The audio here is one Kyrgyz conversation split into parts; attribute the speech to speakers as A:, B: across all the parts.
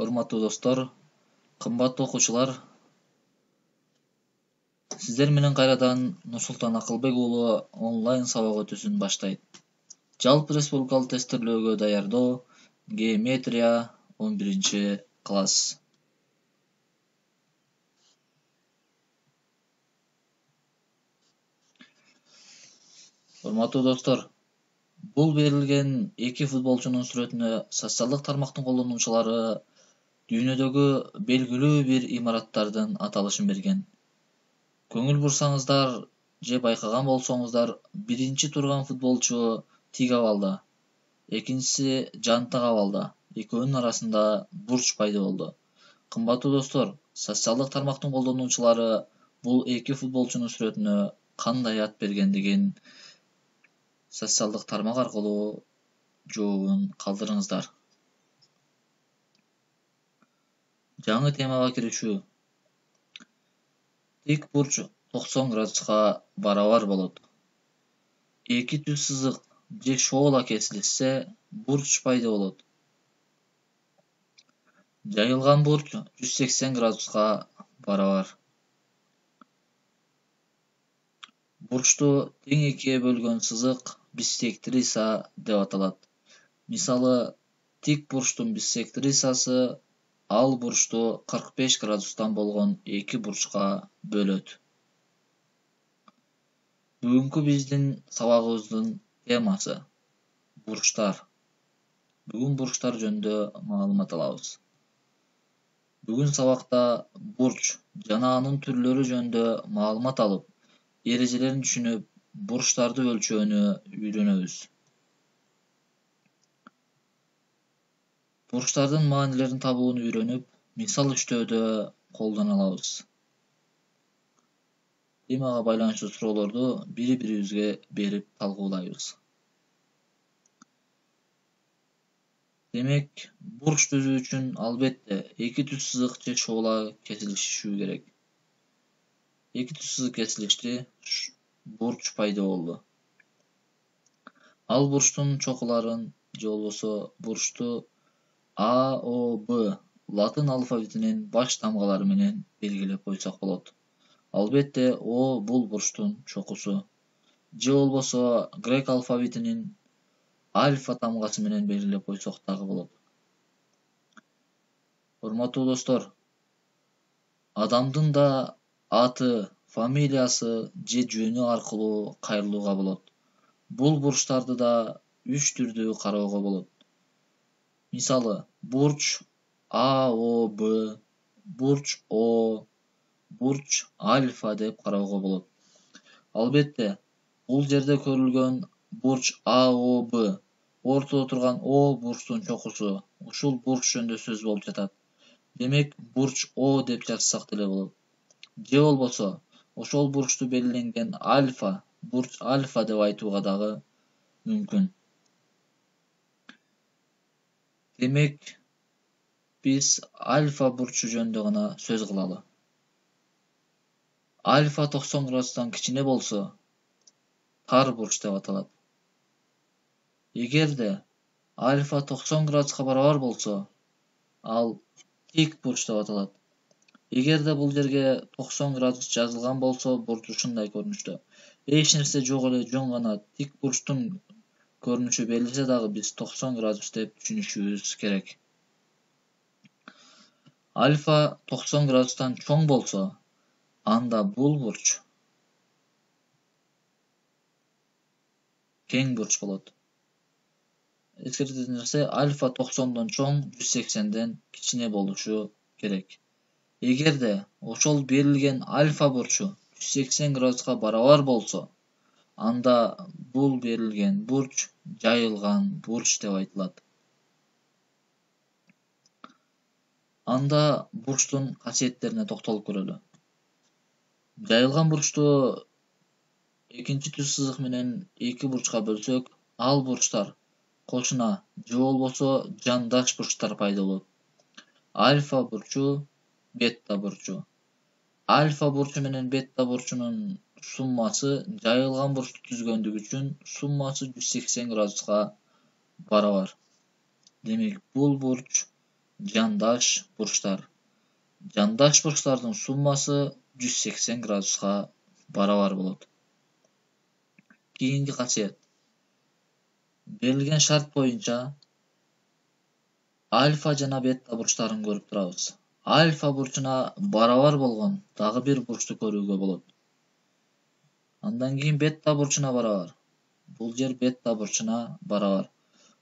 A: урматтуу достор, кымбаттуу окуучулар. Сиздер менен кайрадан Нурсултан Акылбек уулу онлайн сабак өтүүсүн баштайт. Жалпы республикалык тесттөөлөөгө даярдоо, геометрия 11-класс. Урматтуу достор, бул берилген эки футболчунун сүрөтүнө социалдык тармактын колдонуучулары дүйнөдөгү белгилүү бир имараттардын аталышын берген. Көңүл бурсаңыздар же байкаган болсоңуздар, биринчи турган футболчу тик абалда, экинчиси жантак абалда, экөөнүн арасында бурч пайда болду. Кымбаттуу достор, социалдык тармактын колдонуучулары бул эки футболчунун сүрөтүнө кандай ат бергендигин социалдык тармак аркылуу жообун калтырыңыздар. Жаңы темага киришүү. Тик бурч 90 градуска барабар болот. Эки түз сызык же шоола кесилишсе, бурч пайда болот. Жайылган бурч 180 градуска барабар. Бурчту тең экиге бөлгөн сызык биссектриса деп аталат. Мисалы, тик бурчтун биссектрисасы ал бурчту 45 градустан болгон эки бурчка бөлөт. Бүгүнкү биздин сабагыбыздын темасы бурчтар. Бүгүн бурчтар жөнүндө маалымат алабыз. Бүгүн сабакта бурч жана анын түрлөрү жөнүндө маалымат алып, эрежелерин түшүнүп, бурчтарды өлчөөнү үйрөнөбүз. Бурчтардын маанилерин табууну үйрөнүп, мисал иштөөдө колдоно алабыз. Темага байланыштуу суроолорду бири-бирибизге берип талкуулайбыз. Демек, бурч түзүү үчүн албетте эки түз сызык же шоола кесилишүү керек. Эки түз сызык кесилишти, бурч пайда болду. Ал бурчтун чокуларын же болбосо бурчту А, О, Б латын алфавитинин баш тамгалары менен белгилеп койсок болот. Албетте, О бул бурчтун чокусу. Же болбосо грек алфавитинин альфа тамгасы менен белгилеп койсок дагы болот. Урматтуу достор, адамдын да аты, фамилиясы же жөнү аркылуу кайрылууга болот. Бул бурчтарды да 3 түрдүү кароого болот. Мисалы, бурч А, О, Б, бурч О, бурч альфа деп кароого болот. Албетте, бул жерде көрүлгөн бурч А, О, Б, ортодо турган О бурчтун чокусу. Ушул бурч жөнүндө сөз болуп жатат. Демек, бурч О деп жазсак деле болот. Же болбосо, ошол бурчту белгиленген альфа, бурч альфа деп айтууга дагы мүмкүн. Демек, биз альфа бурчу жөнүндө гана сөз кылалы. Альфа 90 градустан кичине болсо, тар бурч деп аталат. Эгерде альфа 90 градуска барабар болсо, ал тик бурч деп аталат. Эгерде бул жерге 90 градус жазылган болсо, бурч ушундай көрүнүштө. Эч нерсе жок эле, жөн гана тик бурчтун көрүнүшү берилсе дагы биз 90 градус деп түшүнүшүбүз керек. Альфа 90 градустан чоң болсо, анда бул бурч кең бурч болот. Эскертетін нерсе, альфа 90дон чоң, 180ден кичине болушу керек. Эгерде ошол берилген альфа бурчу 180 градуска барабар болсо, анда бул берилген бурч жайылган бурч деп айтылат. Анда бурчтун касиеттерине токтолуп көрөлү. Жайылган бурчту экинчи түз сызык менен эки бурчка бөлсөк, ал бурчтар кошуна же болбосо жандаш бурчтар пайда болот. Альфа бурчу, бета бурчу. Альфа бурчу менен бета бурчунун суммасы жайылган бурчту түзгөндүгү үчүн суммасы 180 градуска барабар. Демек, бул бурч жандаш бурчтар. Жандаш бурчтардын суммасы 180 градуска барабар болот. Кийинки касиет. Берилген шарт боюнча альфа жана бета бурчтарын көрүп турабыз. Альфа бурчуна барабар болгон дагы бир бурчту көрүүгө болот. Андан кийин бета бурчуна барабар. Бул жер бета бурчуна барабар.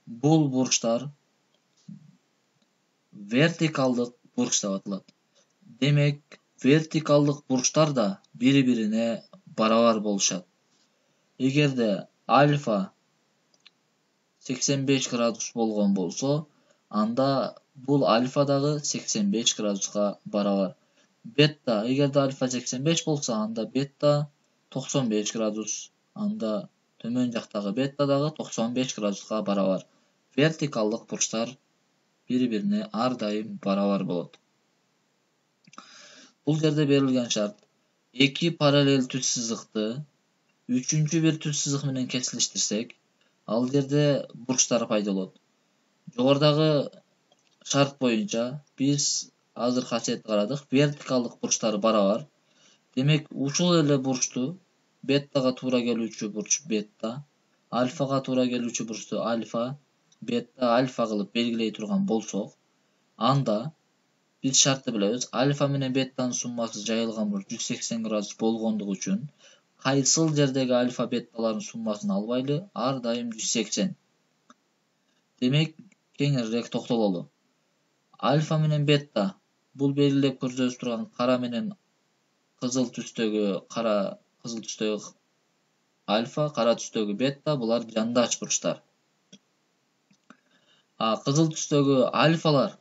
A: Бул бурчтар вертикалдык бурч деп аталат. Демек, вертикалдык бурчтар да бири-бирине барабар болушат. Эгерде альфа 85 градус болгон болсо, анда бул альфа дагы 85 градуска барабар. Бета, эгерде альфа 85 болсо, анда бета 95 градус, анда төмөн жактагы бета дагы 95 градуска барабар. Вертикалдык бурчтар бири-бирине ар дайым барабар болот. Бул жерде берилген шарт: эки параллель түз сызыкты үчүнчү бир түз сызык менен кесилиштирсек, ал жерде бурчтар пайда болот. Жогорудагы шарт боюнча биз азыр касиетти карадык. Вертикалдык бурчтар барабар. Демек, ушул эле бурчту бетага туура келүүчү бурч бета, альфага туура келүүчү бурчту альфа, бета, альфа кылып белгилей турган болсок, анда биз шартты билебиз. Альфа менен бетанын суммасы жайылган бурч 180 градус болгондугу үчүн кайсыл жердеги альфа беталардын суммасын албайлы, ар дайым 180. Демек, кеңирээк токтололу. Альфа менен бета бул белгилеп көрсөтүп турган кара менен кызыл түстөгү альфа, кара түстөгү бета, булар жандаш бурчтар. Кызыл түстөгү альфалар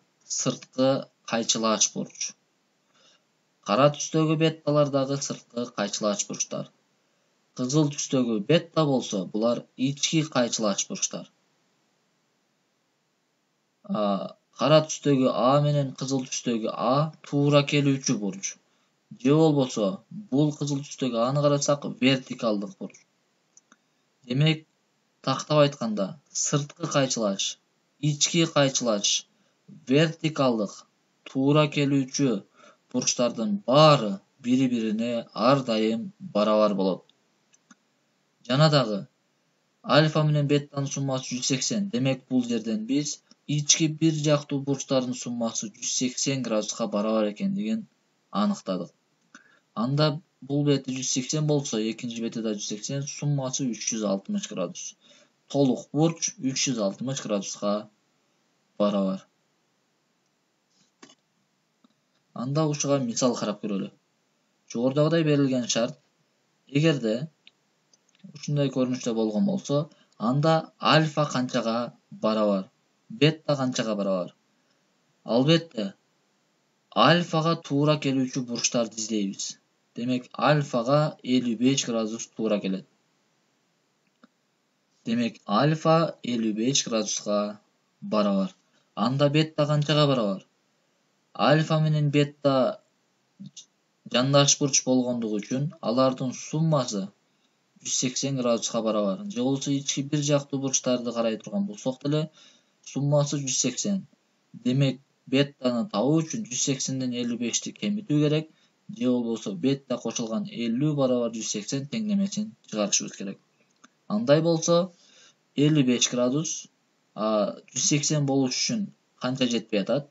A: сырткы кайчылаач бурч. Кара түстөгү беталар дагы сырткы кайчылаач бурчтар. Кызыл түстөгү бета болсо, булар ички кайчылаач бурчтар. Кара түстөгү А менен кызыл түстөгү А туура келүүчү бурч. Же болбосо, бул кызыл түстөгү Аны карасак, вертикалдык бурч. Демек, тактап айтканда, сырткы кайчылаач, ички кайчылаач, вертикалдык, туура келүүчү бурчтардын баары бири-бирине ар дайым барабар болот. Жана дагы альфа менен бетанын суммасы 180. Демек, бул жерден биз ички бир жактуу бурчтардын суммасы 180 градуска барабар экендигин аныктадык. Анда бул бети 180 болсо, экинчи бети да 180, суммасы 360 градус. Толук бурч 360 градуска барабар. Анда ушуга мисал карап көрөлү. Жогорудагыдай берилген шарт: эгерде ушундай көрүнүштө болгон болсо, анда альфа канчага барабар, бета канчага барабар. Албетте, альфага туура келүүчү бурчтарды издейбиз. Демек, альфага 55 градус туура келет. Демек, альфа 55 градуска барабар. Анда бета канчага барабар? Альфа менен бета жандаш бурч болгондугу үчүн алардын суммасы 180 градуска барабар. Же болбосо ички бир жактуу бурчтарды карай турган болсок деле, суммасы 180. Демек, бетаны табуу үчүн 180ден 55ти кемитүү керек. Же болбосо бета кошулган 50 барабар 180 теңдемесин чыгарышыбыз керек. Андай болсо 55 градус 180 болуш үчүн канча жетпей атат?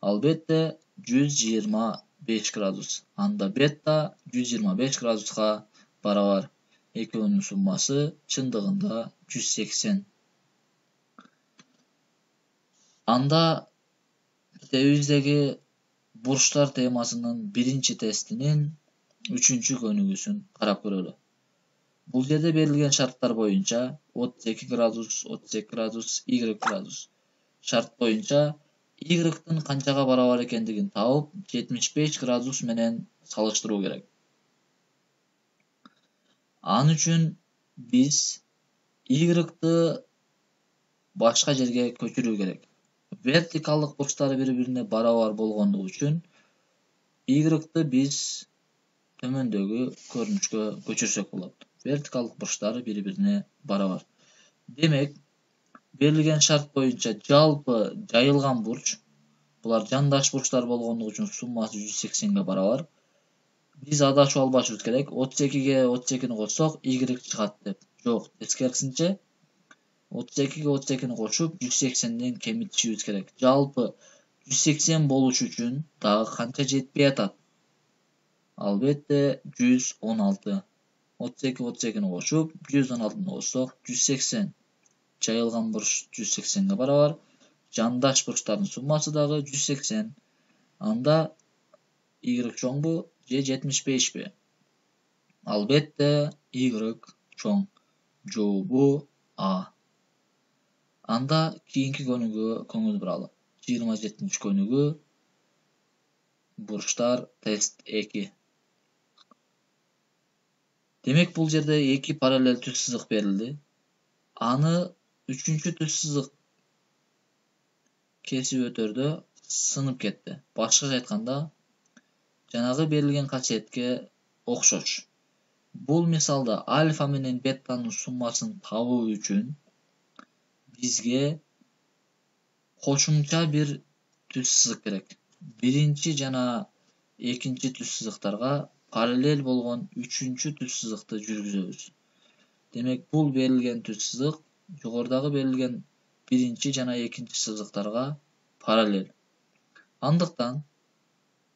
A: Албетте 125 градус. Анда бета 125 градуска барабар. Экөөнүн суммасы чындыгында 180. Анда китебибиздеги бурчтар темасынын биринчи тестинин 3-чү көнүгүүсүн карап көрөлү. Бул жерде берилген шарттар боюнча 32 градус, 32 градус, y градус. Шарт боюнча y-тын канчага барабар экендигин табып, 75 градус менен салыштыруу керек. Ан үчүн биз y-ты башка жерге көчүрүү керек. Вертикалдык бурчтары бири-бирине барабар болгондугу үчүн y-ты биз төмөндөгү көрүнүшкө көчүрсөк болот. Вертикалдык бурчтары бири-бирине барабар. Демек, берилген шарт боюнча жалпы жайылган бурч Булар жандаш бурчтар болгондугу үчүн суммасы 180 барабар. Биз адашып албашыбыз керек. 32-ге 32-ни кошсок, y чыгат деп. Жок, тескерисинче 32-ге 32-ни кошуп 180ден кемитишибиз керек. Жалпы 180 болуш үчүн дагы канча жетпей атат? Албетте 116. 32-32-ни кошуп 116-ны кошсок 180. Жайылган бурч 180ге барабар. Жандаш бурчтардын суммасы дагы 180. Анда y чоңбу же 75би? Албетте y чоң. Жообу А. Анда кийинки көнүгүүгө көңүл буралы. 27-көнүгүү бурчтар тест 2. Демек бул жерде 2 параллель түз сызык берилди. Аны 3-түз сызык кесип өтөрдө сынып кетти. Башкача айтканда, жанагы берилген касиетке окшош. Бул мисалда альфа менен беттанын суммасын табуу үчүн бизге кошумча бир түз сызык керек. Биринчи жана экинчи түз сызыктарга параллель болгон 3-түз сызыкты жүргүзөбүз. Демек бул берилген түз сызык жогорудагы берилген биринчи жана экинчи сызыктарга параллель. Андыктан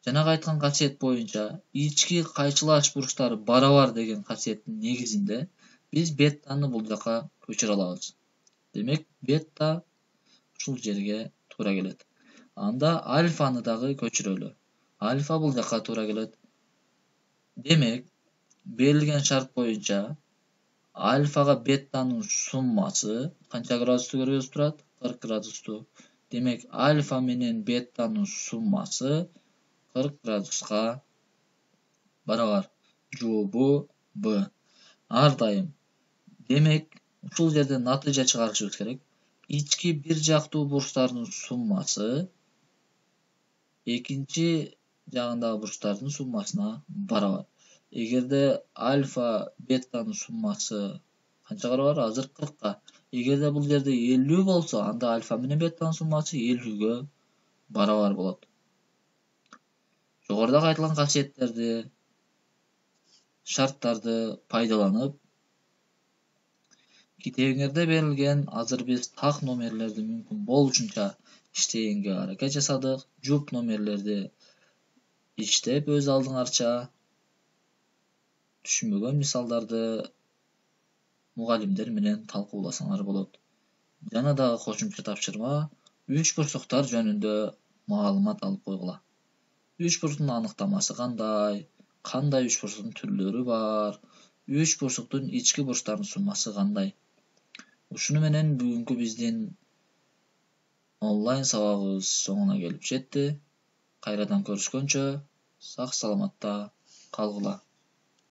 A: жанагы айткан касиет боюнча ички кайчылаш бурчтары барабар деген касиеттин негизинде биз беттаны бул жака көчүрө алабыз. Демек бетта ушул жерге туура келет. Анда альфаны дагы көчүрөлү. Альфа бул жака туура келет. Демек, берилген шарт боюнча альфага беттанын суммасы канча градусту көргөзүп турат? 40 градусту. Демек, альфа менен беттанын суммасы 40 градуска барабар. Жообу Б. Ар дайым. Демек, ушул жерде натыйжа чыгарышыбыз керек. Ички бир жактуу бурчтардын суммасы экинчи жагындагы бурчтардын суммасына барабар. Эгерде альфа беттанын суммасы канчага барабар? Азыр 40ка. Эгерде бул жерде 50 болсо, анда альфа менен беттанын суммасы 50ге барабар болот. Жогорудагы айтылган касиеттерди, шарттарды пайдаланып, китебиңерде берилген азыр биз так номерлерди мүмкүн болушунча иштегенге аракет жасадык. Жуп номерлерди иштеп өз алдыңарча түшүнбөгөн мисалдарды мугалимдер менен талкууласаңар болот. Жана дагы кошумча тапшырма, үч бурчтуктар жөнүндө маалымат алып койгула. Үч бурчтуктун аныктамасы кандай үч бурчтуктун түрлөрү бар, үч бурчтуктун ички бурчтарынын суммасы кандай. Ушуну менен бүгүнкү биздин онлайн сабагыбыз соңуна келип жетти. Кайрадан көрүшкөнчө сак саламатта калгыла.